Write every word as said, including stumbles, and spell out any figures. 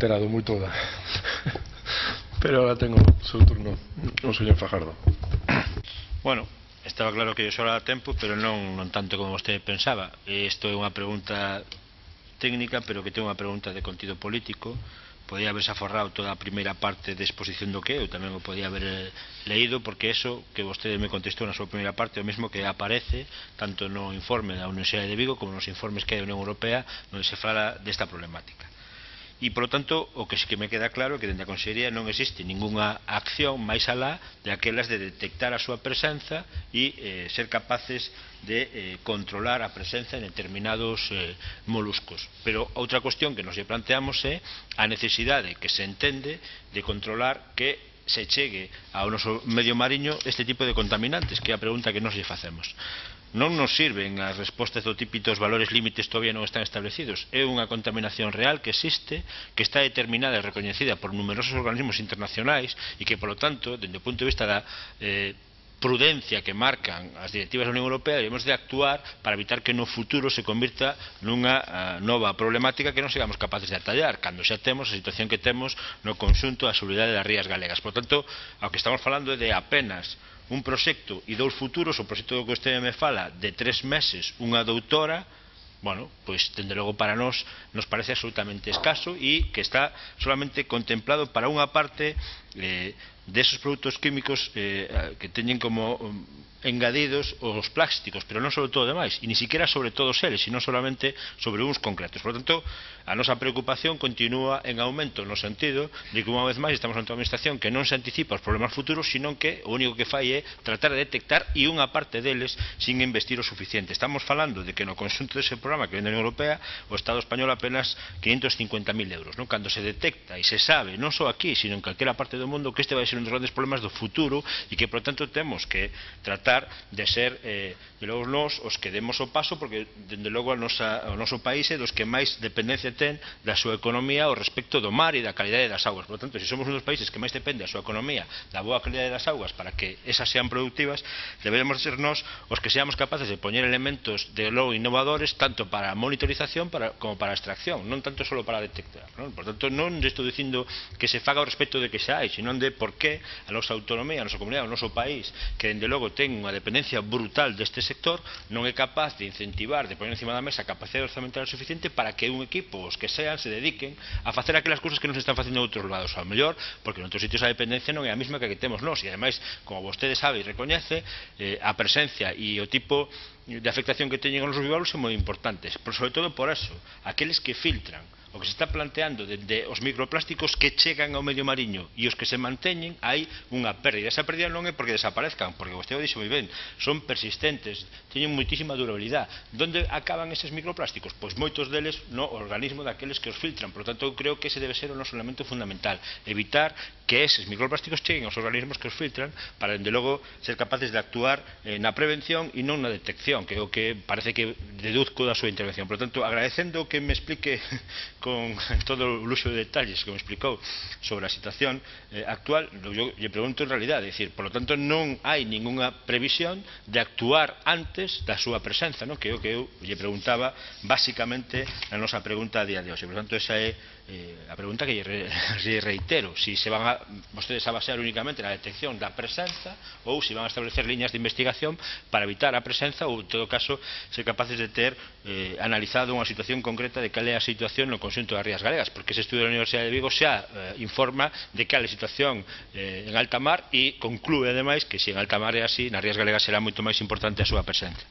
terado moi toda. Pero ahora tengo o seu turno, o señor Fajardo. Bueno, estaba claro que yo só era tempo, pero non, non tanto como vostede pensaba. Isto é unha pregunta técnica, pero que ten unha pregunta de contido político. Podía haberse aforrado toda a primeira parte de exposición do que eu tamén o podía haber leído, porque eso que vostede me contestou na súa primeira parte é o mesmo que aparece tanto no informe da Universidade de Vigo como nos informes que hai da Unión Europea onde se fala desta problemática. E, polo tanto, o que sí que me queda claro é que dende a Consellería non existe ningunha acción máis alá de aquelas de detectar a súa presenza e eh, ser capaces de eh, controlar a presenza en determinados eh, moluscos. Pero outra cuestión que nos lle planteamos é a necesidade que se entende de controlar que se chegue ao noso medio mariño este tipo de contaminantes, que é a pregunta que nos lle facemos. Non nos sirven as respostas do típico os valores límites todavía non están establecidos. É unha contaminación real que existe, que está determinada e recoñecida por numerosos organismos internacionais e que, polo tanto, dende o punto de vista da eh, prudencia que marcan as directivas da Unión Europea, debemos de actuar para evitar que no futuro se convirta nunha uh, nova problemática que non sigamos capaces de atallar, cando xa temos a situación que temos no conxunto da seguridade das rías galegas. Por tanto, ao que estamos falando é de apenas un proxecto e dous futuros. O proxecto do que vostede me fala de tres meses, unha doutora, bueno, pois, dende logo para nós nos parece absolutamente escaso e que está solamente contemplado para unha parte eh, desos produtos químicos eh, que teñen como um, engadidos os plásticos, pero non sobre todo demais, e ni siquiera sobre todos eles, sino solamente sobre uns concretos. Por lo tanto, a nosa preocupación continúa en aumento no sentido de que unha vez máis estamos ante unha administración que non se anticipa os problemas futuros, sino que o único que fai é tratar de detectar e unha parte deles sin investir o suficiente. Estamos falando de que no conxunto dese programa que vende a Unión Europea o Estado español apenas quinhentos cincuenta mil euros, non? Cando se detecta e se sabe, non só aquí, sino en calquera parte do mundo, que este vai ser un dos grandes problemas do futuro e que, por tanto, temos que tratar de ser, eh, de logo, nós os que demos o paso, porque, dende logo, a nosa, o noso país é dos que máis dependencia ten da súa economía ao respecto do mar e da calidade das augas. Por tanto, se somos un dos países que máis depende da súa economía da boa calidade das augas para que esas sean productivas, debemos ser nós os que seamos capaces de poñer elementos de logo innovadores tanto para a monitorización para, como para a extracción, non tanto só para detectar, non? Por tanto, non estou dicindo que se faga ao respecto de que xa hai, sino de por que a nosa autonomía, a nosa comunidade, o noso país, que dende logo ten unha dependencia brutal deste sector, non é capaz de incentivar, de poner encima da mesa a capacidade orzamental suficiente para que un equipo, os que sean, se dediquen a facer aquelas cousas que non se están facendo en outros lados, ao mellor, porque en outros sitios a dependencia non é a mesma que a que temos nós, e ademais, como vostede sabe e recoñece, eh, a presencia e o tipo de afectación que teñen os bivalvos son moi importantes, pero sobre todo por eso, aqueles que filtran o que se está planteando de os microplásticos que chegan ao medio mariño e os que se manteñen, hai unha pérdida. Esa pérdida non é porque desaparezcan, porque vostede o dixo moi ben, son persistentes, teñen moitísima durabilidade. Donde acaban eses microplásticos? Pois moitos deles no organismo daqueles que os filtran. Por lo tanto, eu creo que ese debe ser o noso elemento fundamental, evitar que eses microplásticos cheguen aos organismos que os filtran para, dende logo, ser capaces de actuar eh, na prevención e non na detección, que é o que parece que deduzco da súa intervención. Por lo tanto, agradecendo que me explique con todo o luxo de detalles que me explicou sobre a situación eh, actual, eu lle pregunto en realidade, é dicir, por lo tanto non hai ningunha previsión de actuar antes da súa presenza, non? Que é o que eu lle preguntaba basicamente na nosa pregunta a día de hoxe. Por lo tanto, esa é eh, a pregunta que lle, re, lle reitero, si se van a, vostedes a basear únicamente na detección da presenza ou se van a establecer liñas de investigación para evitar a presenza ou, en todo caso, ser capaces de ter eh, analizado unha situación concreta de cal é a situación no conxunto das rías galegas, porque ese estudio da Universidade de Vigo xa eh, informa de cal é a situación eh, en alta mar e conclúe, ademais, que se en alta mar é así, nas rías galegas será moito máis importante a súa presenza.